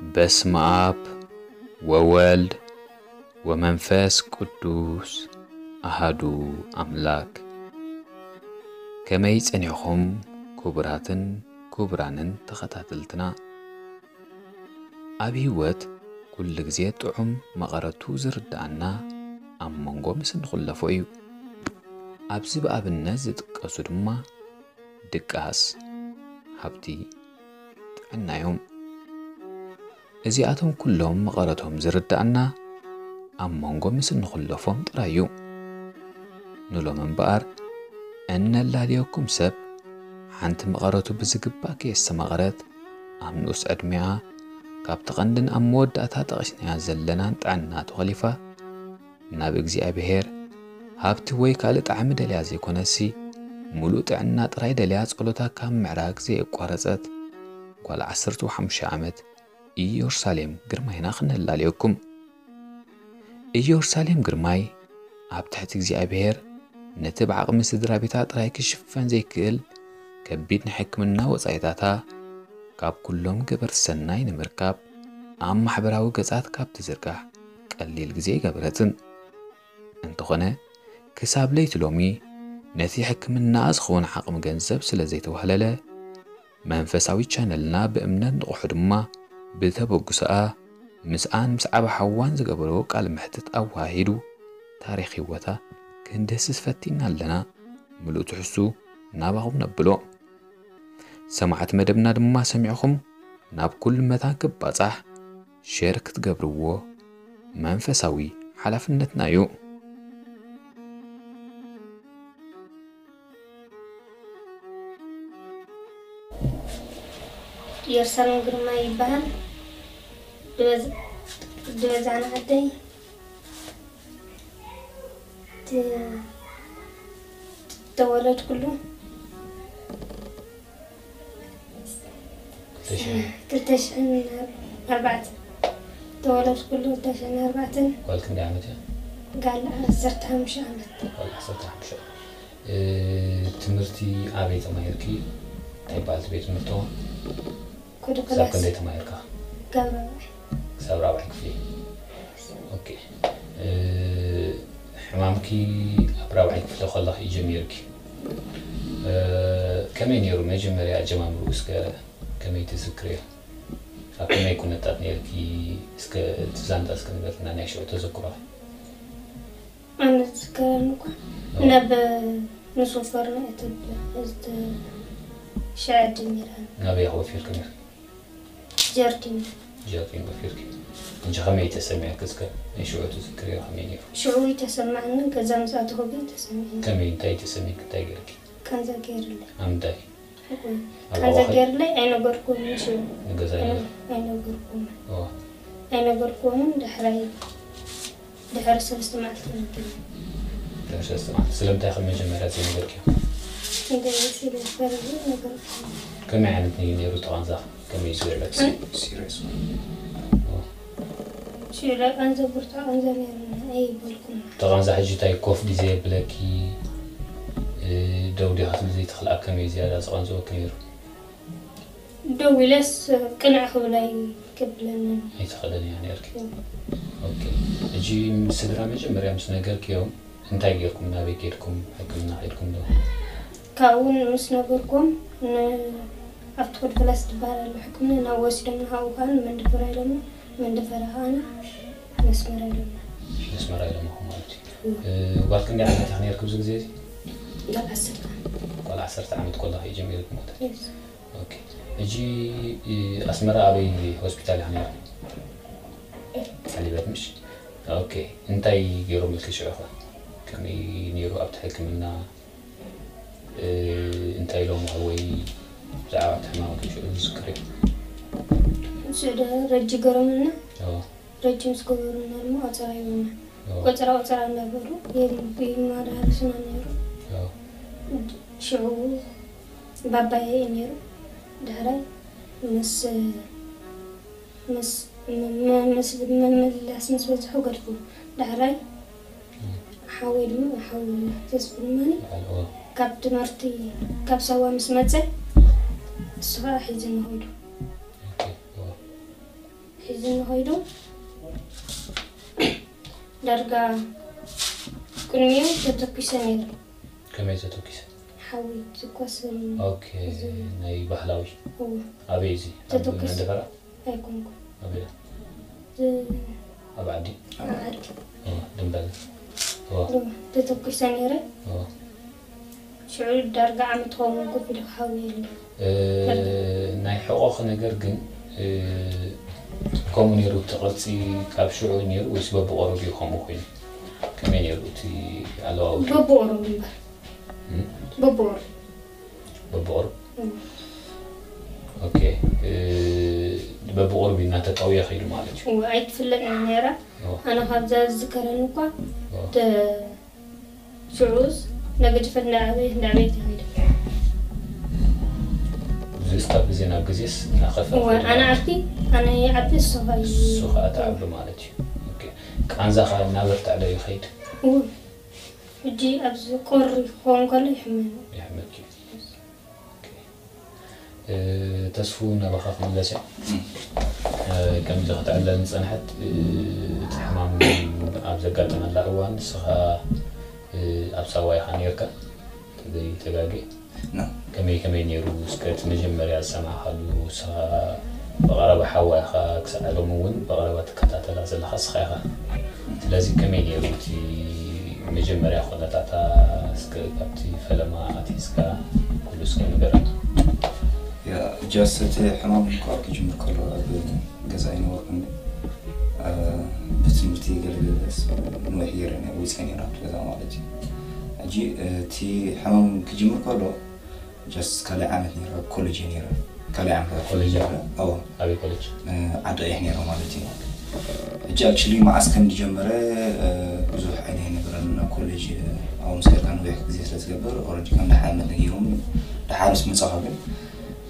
በስመ አብ ወወልድ ወመንፈስ ቅዱስ አሃዱ አምላክ። ከመይ ጸኒሕኹም ክቡራትን ክቡራንን ተኸታተልትና? ኣብ ህይወት ኩሉ ግዜ ጥዑም መቐረቱ ዝርድኣና ኣብ መንጎ ምስ እንኹለፎ እዩ። ኣብዚ ብኣብነት ዝጥቀሱ ድማ ድቃስ፣ ሃብቲ፣ ጥዕና እዮም። እዚኣቶም ኩሎም መቐረቶም ዝርድኣና ኣብ መንጎ ምስ እንኹለፎም ጥራይ እዩ። ንሎም እምበኣር እነላልየኩም ሰብ ሓንቲ መቐረቱ ብዝግባእ ከየስተማቐረት ኣብ ንኡስ ዕድሜኣ ካብቲ ቀንድን ኣብ መወዳእታ ጠቒስናያ ዘለናን ጥዕና ተኾሊፋ ናብ እግዚኣብሔር ሃብቲ ወይ ካልእ ጣዕሚ ደልያ ዘይኮነሲ፣ ምሉእ ጥዕና ጥራይ ደልያ ጸሎታ ካብ ምዕራግ ዘየቋረጸት ጓል ዓሰርተ ሓሙሽተ ዓመት ኢየሩሳሌም ግርማይና ክነላልየኩም። ኢየሩሳሌም ግርማይ ኣብ ትሕቲ እግዚኣብሔር ነቲ ብዓቕሚ ስድራ ቤታ ጥራይ ክሽፈን ዘይክእል ከቢድ ናይ ሕክምና ወጻኢታታ ካብ ኩሎም ገበርቲ ሰናይ ንምርካብ ኣብ ማሕበራዊ ገጻት ካብ ትዝርጋሕ ቀሊል ግዜ ኣይገበረትን። እንተኾነ፣ ክሳብ ለይቲ ሎሚ ነቲ ሕክምናኣ ዝኸውን ዓቕሚ ገንዘብ ስለ ዘይተዋህለለ፣ መንፈሳዊ ቻነልና ብእምነት ንቑሑ ድማ ብተበግሶኣ ምስኣን ምስ ዓቢ ሓዋን ዝገበሮ ቃለ መሕትት ኣወሃሂዱ ታሪኽ ህይወታ ክንድህስስ ፈቲና ኣለና። ምሉእ ትሕዝቱ ናባኹም ነብሎ። ሰማዕቲ መደብና ድማ ሰሚዕኹም ናብ ኩሉ መታን ክባጻሕ ሼር ክትገብርዎ መንፈሳዊ ሓላፍነትና እዩ። ኢየሩሳሌም ግርማ ይበሃል። ድበዝ-፣ ድበዛን ዓደይ ት-፣ ተወለድኩሉ ክልተ ሽሕን ክልተ ሽሕን ኣርባዕተን። ተወለድኩሉ ክልተ ሽሕን ኣርባዕተን። ጓል ክንደይ ዓመት እያ? ጋል ዓሰርተ ሓሙሽተ ዓመት። ጓል ዓሰርተ ሓሙሽተ። እ፣ ትምህርቲ ኣበይ ተማሂርኪ? እንታይ ይበሃል እቲ ቤት ትምህርትኹም? ኩዱ ክሳብ ክላስ ክንደይ ተማሂርካ? ጋብ ራብዓይ። ክሳብ ራብዓይ ክፍሊ። ኦኬ። እ፣ ሕማምኪ ኣብ ራብዓይ ክፍሊ ከለኺ እዩ ጀሚርኪ። እ፣ ከመይ ነይሩ መጀመርያ ኣጀማምርኡ እስከ ከመይ ትዝክርዮ? ኣብ ከመይ ኩነታት ነይርኪ? እስከ እቲ ዛንታ እስከ ንገርና ናይ ሽዑ ተዘክሮኺ። ኣነ ዝዝከረኒ እኳ ናብ ንሶፈር ንእትብል ሽዐ ጀሚራ ናበይ ወፊርኪ ነይርኪ? ጀርዲን ጀርዲን ወፊርኪ። እንጂ ከመይ ተሰሚዕኪ እስከ ናይ ሽዑ ትዝክርዮ ከመይ ነይሩ? ሽዑ ይተሰማዕኒ ገዛ ምስ ኣተኹ ግን ተሰሚዕኒ ከመይ እንታይ ተሰሚዕኪ እንታይ ገይርኪ? ካንዛ ገይርለይ ኣብ ምንታይ? ካንዛ ገይርለይ ኣይነገርኩምን ሽዑ ንገዛ ነይሩ? ኣይነገርኩምን ኦ፣ ኣይነገርኩምን ድሕራይ ድሕሪ ሰለስተ መዓልቲ ተነጊሩ ድሕሪ ሰለስተ መዓልቲ። ስለምንታይ ከም መጀመርያ ዘይነገርክዮ? እንደ ስለ ፈረዱ ነገርኩ ከመይ ዓይነት እዩ ነይሩ እቲ ቃንዛ? ከመይ እዩ ዝበለኪ? ሲሪየስ ሽዑ ቃንዛ ብርቱዕ ቃንዛ ነይሩና ኣይበልኩን እቲ ቃንዛ ሕጂ እንታይ ኮፍ ድዩ ዘየብለኪ? እ፣ ደው ዲኻ ክትብል ዘይትኽእል ኣብ ከመይ ዝያዳ ዝቐንዝወኪ ነይሩ? ደው ኢለስ ቅንዕ ክብል ኣይከብለንን ኣይትኽእልን እያ ነርኪ። ኦኬ። ሕጂ ምስ ስድራ መጀመርያ ምስ ነገርክዮም እንታይ ጌርኩም? ናበይ ኬድኩም? ሕክምና ኸድኩም ዶ? ካብኡ ምስ ነገርኩም ን-፣ ኣብቲ ኮድ ፕላስ ትበሃል ኣሎ ሕክምና ናብ ወሲዶም ንሃው ከዓ መንደፈራ ኢሎም መንደፈራ ከዓ መስመራ ኢሎም መስመራ ኢሎምኹም ማለት እዩ። እ፣ ጓል ክንደይ ዓመት ኢኻ ነርኪ ኣብዚ ግዜ እዚ? ጋል ዓሰርተ ዓመት ጓል ዓሰርተ ዓመት ኮለኻ እዩ ጀሚሩ ክሞት። የስ ኦኬ። ሕጂ እ፣ ኣስመራ ኣበይ ሆስፒታል ኢኻ ነርኪ? ዓሊበት ምሽ? ኦኬ። እንታይ ገይሮምልኪ ሽዑ ኸ? ከመይ ነይሩ ኣብቲ ሕክምና? እ፣ እንታይ ኢሎምኺ ወይ ብዛዕባ እቲ ሕማም ሽዑ ዝዝክር እዩ? ስዕደ ረጂ ገረምና ኦ፣ ረጂ ምስ ገበሩና ድማ ቆፀራ ይብሉና ኦ፣ ቆፀራ ቆፀራ እናበሉ ይም-፣ ይመላለሱና ነይሩ ኦ። ሽዑ ባባየ እዩ ነይሩ ድሕራይ ምስ ምስ ም-፣ ም-፣ ምስ ምምላስ ምስ በዝሑ ገድፉ ድሕራይ ሓወይ ድማ ሓው ተስፉ ድማኒ በዓል ኦ፣ ካብ ትምህርቲ ካብ ሳዋ ምስ መፀ እሱ ከዓ ሒዙ ንኸይዱ ኦኬ፣ ኦ። እዚ ንኸይዱ ዳርጋ ቅድሚኡ ተተኩሰ ነይረ። ከመይ ተተኪሰ? ሓዊ ትኮስ ኦኬ። ናይ ባህላዊ እዎ ኣበይ እዚ? ኣብ ተተኩስ። መንደፈራ? ኣይኮንኩ ኣበይ? ኣብ ዓዲ? ዓዲ ኦ፣ ድንበል። ኦ፣ ተተኩሰ ነይረ። ኦ። ሽዑ ዳርጋ ዓመት ኸውን ኮፍ ኢለ ክሓዊ የለ። እ፣ ናይ ሕቆኺ ነገር ግን እ፣ ከምኡ ነይሩ እቲ ቅርፂ ካብ ሽዑ ነይሩ ወይስ በብቆረብ እዩ ከምኡ ኮይኑ? ከመይ ነይሩ እቲ ኣለዋውጡ? በብቆረብ እምበር እም? በብቆረብ በብቆረብ እም። ኦኬ። እ፣ በብቆረብ እናተጠውየ ከይዱ ማለት እዩ። እዎ ኣይትፍለጥን ነይራ። ኦ፣ ኣነ ካብዛ ዝዝከረኒ እኳ ኦ። ተ- ሽዑስ እናገደፈት እናዓበየት እናዓበየት ይኸይድ። እዚስ ካብ ግዜ ናብ ግዜስ እናኸፍአ እወ ከይዱ ኣነ ማለት ዓቢ ኣነ ይዓቢ እሱ ኸኣ እዩ። እሱ ከዓ ተዓቢ ማለት እዩ። ኦኬ። ቃንዛኻ እናበርትዐ ዶ ይኸይድ? እወ ሕጂ ኣብዚ ቁሪ ክኸውን ከሎ ይሕመኒ። ይሕመኪ። ኦኬ። እ፣ ተስፉ ናባኻ ክምለስ እየ። እ፣ ከምዚ ክትዕለል ዝጸንሐት እ፣ እቲ ሕማም ኣብ ዘጋጠመላ እዋን ንስኻ እ፣ ኣብ ሳዋ ኢኻ ነይርካ ተዘይተጋጌ? ና። ከመይ ከመይ ነይሩ እስከ እቲ መጀመርያ ዝሰማዕካሉ ንስኻ ብቐረባ ሓዋይኻ ክሳዕ ሎም እውን ብቐረባ ትከታተላ ዘለኻ እስኻ ኢኻ። ስለዚ ከመይ ነይሩ እቲ መጀመርያ ኩነታታ እስከ ካብቲ ፈለማ ኣትሒዝካ ኩሉ እስከ ንገረና። ያ ጃስ እቲ ሕማም እኳ ክጅምር ከሎ ኣብ ገዛ ኣይነበርኩን። እ፣ ብትምህርቲ ገለገለስ ንውሕ ገይረ ወፅአ ነይረ ኣብቲ ገዛ ማለት እዩ። ሕጂ እቲ ሕማም ክጅምር ከሎ ጃስ ካልኣይ ዓመት ነይረ ኣብ ኮሌጅ እየ ነይረ። ካልኣይ ዓመት ኣብ ኮሌጅ ኮሌጅ ነይረ። ኣዎ ኣበይ ኮሌጅ? እ፣ ዓዲ ኣያሕ ነይረ ማለት እዩ። ሕጂ ኣክቹሊ መዓስ ከም ዝጀመረ እ፣ ብዙሕ ዓይነ ኣይነበረን ናብ ኮሌጅ እ፣ ኣብኡ ምስ ከድካ ነዊሕ ግዜ ስለ ዝገብር ኦልሬዲ ከም ደሓር ዓመት ነጊሮም ደሓር ምስ መጻኹ ግን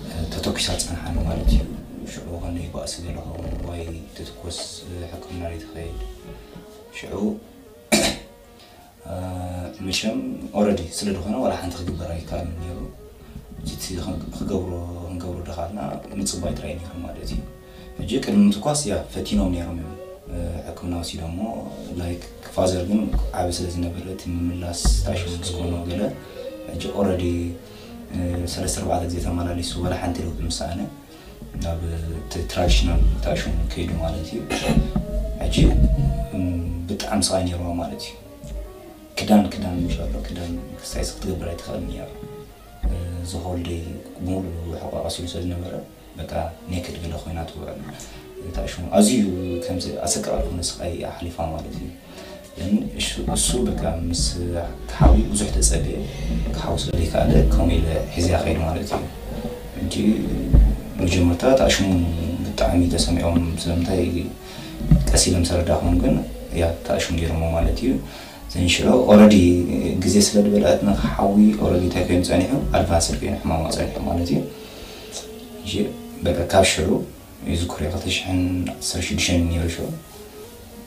እ፣ ተተኩሳ ጸንሓኒ ማለት እዩ። ሽዑ ከንደይ ባእሲ ገለ ኸውን ዋይ ትትኮስ እ፣ ሕክምና ዶ ትኸይድ ሽዑ እ፣ መቸም ኦልሬዲ ስለ ዝኾነ ዋላ ሓንቲ ክግበር ኣይከኣልን ነይሩ። እቲ ክገብሮ ክንገብሮ ደኻልና ምጽባይ ጥራይ ነይሩ ማለት እዩ። ሕጂ ቅድሚ ምትኳስ ያ ፈቲኖም ነይሮም እዮም እ፣ ሕክምና ወሲዶሞ ላይክ ፋዘር ግን ዓቢ ስለ ዝነበረ እቲ ምምላስ ታሽሙ ምስ ኮኖ ገለ ሕጂ ኦልሬዲ እ፣ ሰለስተ ኣርባዕተ ግዜ ተመላሊሱ ዋላ ሓንቲ ለውጢ ምስ ሰኣነ ናብ እቲ ትራዲሽናል ታሽሙ ከይዱ ማለት እዩ። ሕጂ እም፣ ብጣዕሚ ስቓይ ነይርዋ ማለት እዩ። ክዳን ክዳን ምሻሎ ክዳን ክስታይ ክትገብር ኣይትኽእል ነይሩ። እ፣ ዝሆልደይ ሙሉ ሕቋ ቀሲሉ ስለ ዝነበረ በቃ ኔክድ ገለ ኮይና ትውዕል። ታሽሙ ኣዝዩ ከምዚ ኣሰቃቂ ዝኾነ ስቓይ ኣሕሊፋ ማለት እዩ። ግን እሱ እሱ በቃ ምስ ሓዊ ብዙሕ ተጸበየ ክሓዊ ስለ ዘይከኣለ ከምኡ ኢለ ሒዝያ ከይድ ማለት እዩ። እንጂ መጀመርታ ታሽሙ ብጣዕሚ ተሰሚዖም ስለምንታይ ቀስ ኢሎም ሰረዳኹም ግን ያ ታሽሙ ገይሮሞ ማለት እዩ። ዘን ሽዑ ኦረዲ ግዜ ስለ ዝበልዐትና ሓዊ ኦረዲ እንታይ ኮይኑ ጸኒሑ ኣድቫንስድ ኮይኑ ሕማማ ጸኒሑ ማለት እዩ። እሺ በቃ ካብ ሽዑ ይዝክሮ ክልተ ሽሕን ዓሰርተ ሽዱሽተን ነይሩ ሽዑ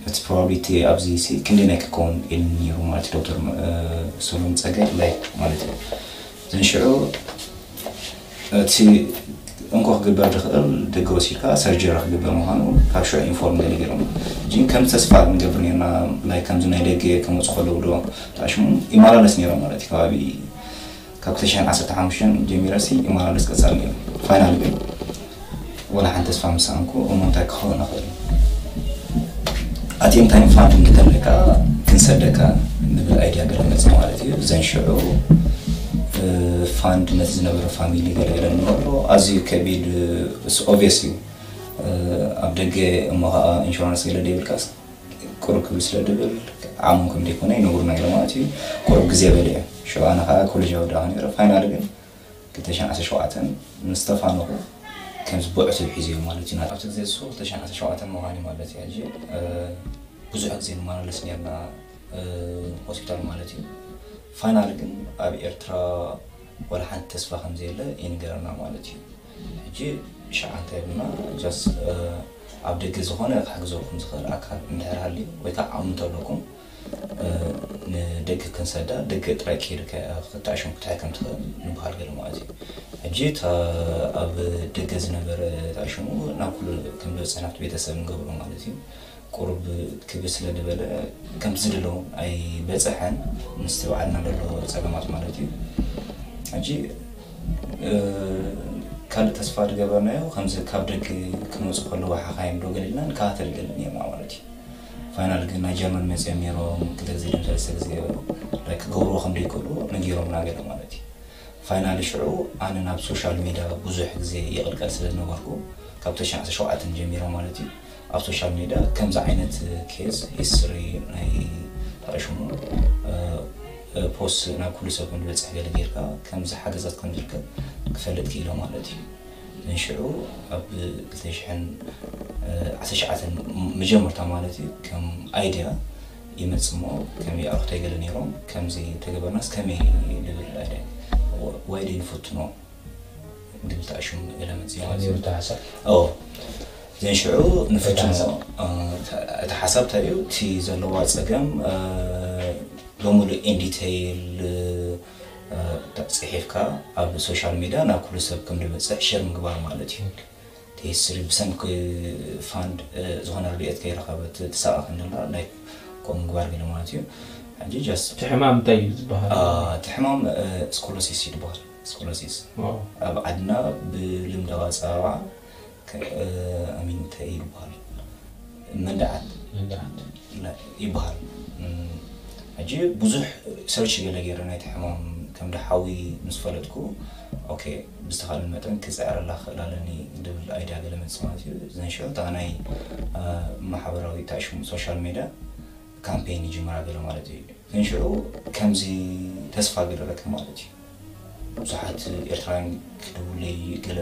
እቲ ፕሮባብሊቲ ኣብዚ ሲ ክንደይ ናይ ክከውን ኢሉ ነይሩ ማለት ዶክተር ሰሎም ጸጋይ ላይ ማለት እዩ። ዘን ሽዑ እቲ እንኮ ክግበር ዝኽእል ደገ ወሲድካ ሰርጀሪ ክግበር ምዃኑ ካብ ሽዑ ኢንፎርም ገለ ገይሮም ግን ከም ተስፋ ንገብር ነርና ላይ ከምዚ ናይ ደገ ከመፁ ከለዉ ዶ ተኣሽሙ ይመላለስ ነይሮም ማለት እዩ ከባቢ ካብ ክልተ ሽሕን ዓሰርተ ሓሙሽተን ጀሚረ ሲ ይመላለስ ቀፃል ነይሩ ፋይናል ግን ወላ ሓንቲ ተስፋ ምሰኣንኩ እሞ እንታይ ክኸውን ይኽእል ኣቲም ታይም ፋንድ እንተለካ ክንሰደካ ንብል ኣይድያ ገለ መፅእ ማለት እዩ ዘን ሽዑ ፋንድ ነቲ ዝነበረ ፋሚሊ ገለ ገለ ንገብሮ ኣዝዩ ከቢድ ኦብስ እዩ ኣብ ደገ እሞ ከዓ ኢንሹራንስ ገለ ደይብልካስ ቁሩብ ክብል ስለ ድብል ዓሞም ከም ደይኮነ ይነግሩና ገለ ማለት እዩ ቁሩብ ግዜ በለ እዩ ሽዑ ኣነ ከዓ ኮሌጅ ኣወዳእኹ ነይረ ፋይናል ግን ክልተ ሽሕን ዓሰርተ ሸውዓተን ምስ ተፋነኹ ከምዚ ብዕቱብ ሒዘዮ ማለት እዩ ኣብቲ ግዜ እሱ ክልተ ሽሕን ዓሰርተ ሸውዓተን ምዃን እዩ ማለት እዩ ሕጂ ብዙሕ ግዜ ንመላለስ ነርና ሆስፒታል ማለት እዩ ፋይናል ግን ኣብ ኤርትራ ወላ ሓንቲ ተስፋ ከምዘየለ ይንገረና ማለት እዩ ሕጂ ሸዓ እንታይ ብና ጃስ ኣብ ደገ ዝኾነ ክሕግዘኩም ዝኽእል ኣካል እንድሕር ሃልዩ ወይ ከዓ ዓቕሚ እንተለኩም ንደገ ክንሰዳ ደገ ጥራይ ከይድካ ክትኣሽም ክትሕከም ትኽእል ንበሃል ገለ ማለት እዩ። ሕጂ እታ ኣብ ደገ ዝነበረ ተኣሽሙ ናብ ኩሉ ከም ዝበፅሕ ናብቲ ቤተሰብ ንገብሮ ማለት እዩ። ቁሩብ ክብስ ስለ ዝበለ ከምቲ ዝደለዎም ኣይበፅሐን ምስቲ በዓልና ዘሎ ፀገማት ማለት እዩ። ሕጂ ካልእ ተስፋ ዝገበርናዮ ከምዚ ካብ ደገ ክመፁ ከለዉ ሓኻይም ዶ ገሊልና ንከታተል ገለን እዮም ማለት እዩ። ፋይናል ግን ናይ ጀርመን መፅኦም ነይሮም ክልተ ግዜ ድም ሰለስተ ግዜ ክገብርዎ ከም ዘይክእሉ ነጊሮምና ገለ ማለት እዩ። ፋይናሊ ሽዑ ኣነ ናብ ሶሻል ሚድያ ብዙሕ ግዜ ይቕልቀል ስለ ዝነበርኩ ካብ ተሽዓተ ሸውዓተን ጀሚረ ማለት እዩ ኣብ ሶሻል ሚድያ ከምዚ ዓይነት ኬዝ ሂስትሪ ናይ ተኣሽሙ ፖስት ናብ ኩሉ ሰብ ከም ዝበፅሕ ገለ ጌርካ ከምዚ ሓገዛት ከም ዝርከብ ክፈልጥ ክኢለ ማለት እዩ። ንሽዑ ኣብ ክልተ ሽሕን ዓሰርተ ትሽዓተን መጀመርታ ማለት እዩ ከም ኣይድያ ይመጽእ እሞ ከመይ ኣርክቶ ይገለ ነይሮም ከምዚ ተገበርናስ ከመይ ልብል ኣይድያ ዋይደ ንፈትኖ ድብል ተኣሽሙ ገለ መጽእ ማለት እዩ። ዝብል ተሓሳብ ኦ ዘን ሽዑ ንፈትኖ ሓሳብ። እቲ ሓሳብ እንታይ እዩ እቲ ዘለዋ ጸገም ብምሉእ ኢንዲቴይል ጽሒፍካ ኣብ ሶሻል ሚድያ ናብ ኩሉ ሰብ ከም ዝበፅሕ ሸር ምግባር ማለት እዩ። ቴስሪ ብሰንኪ ፋንድ ዝኾነ ርድኤት ከይረኸበት ትሳቐ ክንደላ ናይ ከምኡ ምግባር ገለ ማለት እዩ። ሕጂ ጃስት እቲ ሕማም እንታይ እዩ ዝበሃል? እቲ ሕማም ስኮሎሲስ ይበሃል። ስኮሎሲስ ዋው። ኣብ ዓድና ብልምዳዊ ኣፀራርዓ ኣሚን እንታይ ይበሃል? መንድዓት መንድዓት። ይበሃል። ሕጂ ብዙሕ ሰርች ገለ ገይረ ናይቲ ሕማም ከም ደሓዊ ምስ ፈለጥኩ ኦኬ ብዝተኻእለ መጠን ክፅዕረላ ክኽእል ኣለኒ ድብል ኣይድያ ገለ መፅእ ማለት እዩ። ዘንሽዑ እታ ናይ ማሕበራዊ ታሽሙ ሶሻል ሜድያ ካምፔን ይጅምራ ገለ ማለት እዩ። ዘንሽዑ ከምዚ ተስፋ ገለ ረክብ ማለት እዩ። ብዙሓት ኤርትራውያን ክድውለይ ገለ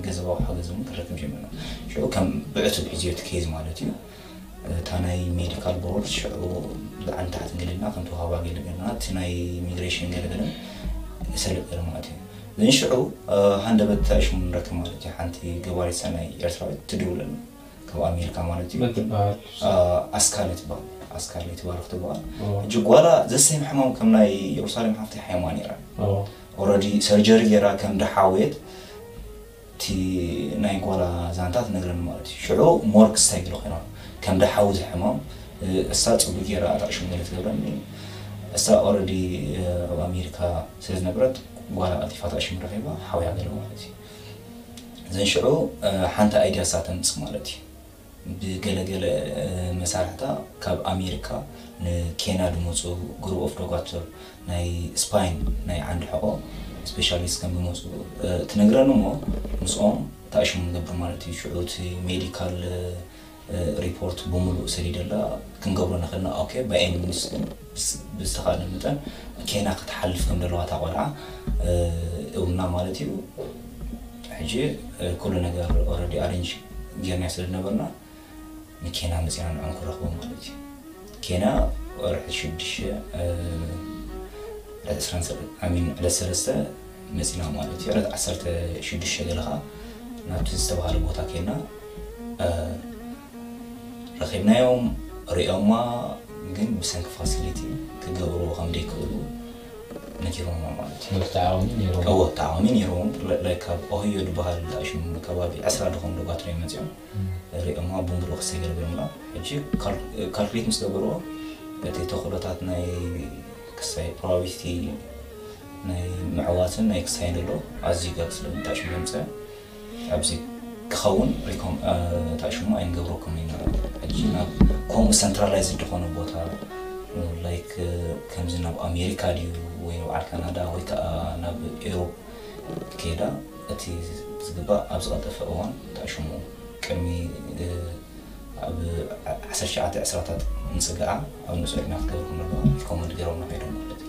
ገንዘባዊ ሓገዝ እውን ክረክብ ጀሚርና። ሽዑ ከም ብዕቱብ ሒዝዮ እቲ ኬዝ ማለት እዩ። እታ ናይ ሜዲካል ቦርድ ሽዑ ላዕሊ ታሕቲ እንግልና ከም ተዋህባ ገለ ገለና እቲ ናይ ኢሚግሬሽን ገለ ገለ ሰልጥ ገለ ማለት እዩ። ግን ሽዑ ሃንደበት ሽሙ ንረክብ ማለት እዩ። ሓንቲ ገባሪት ሰናይ ኤርትራዊት ትድውለልና ካብ ኣሜሪካ ማለት እዩ። መን ትበሃል? ኣስካለ ትበሃል። ኣስካለ ትባረክ ትበሃል። ሕጂ ጓላ ዘሰይም ሕማም ከም ናይ ኢየሩሳሌም ሓፍቲ ሓይማ ነይራ። ኦረዲ ሰርጀሪ ገይራ ከም ደሓወየት እቲ ናይ ጓላ ዛንታ ትነግረኒ ማለት እዩ። ሽዑ ሞርክ ስታይ ገለ ኮይና ከም ደሓዊ ዝሕማም እሳ ፅቡቅ ገይራ ኣጣዕሽም ገለ ትገብረኒ። እሳ ኦረዲ ኣብ ኣሜሪካ ስለ ዝነበረት ጓላ ቀልጢፋ ኣጣዕሽም ረኺባ ሓውያ ገለ ማለት እዩ። ዘን ሽዑ ሓንቲ ኣይድያ እሳ ተምፅእ ማለት እዩ። ብገለገለ መሳርሕታ ካብ ኣሜሪካ ንኬንያ ዝመፁ ግሩፕ ኦፍ ዶጋትር ናይ ስፓይን ናይ ዓንዲ ሕቆ ስፔሻሊስት ከም ዝመፁ ትነግረኒ እሞ ምስኦም ተኣሽሙ ንገብር ማለት እዩ። ሽዑ እቲ ሜዲካል ሪፖርት ብምሉእ ሰዲደላ ክንገብሮ ንኽእልና ኦኬ ባይ ኤኒ ሚንስ ግን ብዝተኻእለ መጠን ኬንያ ክትሓልፍ ከም ዘለዋ እታ ቆልዓ እውና ማለት እዩ። ሕጂ ኩሉ ነገር ኦረዲ ኣሬንጅ ጌርና ስለ ዝነበርና ንኬንያ መፂና ንዕኦም ክረኽቦም ማለት እዩ። ኬንያ ወርሒ ሽዱሽተ ዕለት ዕስራን ሰለስተ ኣሚን ዕለት ሰለስተ መፂና ማለት እዩ። ዕለት ዓሰርተ ሽዱሽተ ገለ ከዓ ናብቲ ዝተባሃለ ቦታ ኬንያ ረኺብናዮም ሪኦማ ግን ብሰንኪ ፋሲሊቲ ክገብርዎ ከም ዘይክእሉ ነጊሮምና ማለት እዩ። መብዛዕኦም ነይሮም እዎ ተቃዋሚ ነይሮም። ላይክ ካብ ኦህዮ ዝበሃል ሽሙ ከባቢ ዕስራ ዝኾኑ ዶጋትር እዮም መፂኦም ሪኦማ ብምሉእ ክሰገር ገምራ። ሕጂ ካልኩሌት ምስ ገበርዎ እቲ ተኽእሎታት ናይ ክሳይ ፕሮባቢሊቲ ናይ ምዕዋትን ናይ ክሳይን ዘሎ ኣዝዩ ገብ ስለ ምንታይ ሽሙ ዘምፀ ኣብዚ ክኸውን ታሽሙ ኣይንገብረኩም ኢና። ሕጂ ናብ ከምኡ ሰንትራላይዝ ዝኾነ ቦታ ላይክ ከምዚ ናብ ኣሜሪካ ድዩ ወይ ኣብ ዓድ ካናዳ ወይ ከዓ ናብ ኤሮፕ ከይዳ እቲ ዝግባእ ኣብ ዝቐልጠፈ እዋን ታሽሙ ቅድሚ ኣብ ዓሰርተ ትሽዓተ ዕስራታት ንፅግዓ ኣብ ንሱ ዕድሚያ ክትገብር ከለዋ ሪኮመንድ ገይሮም ንኸይዶም ማለት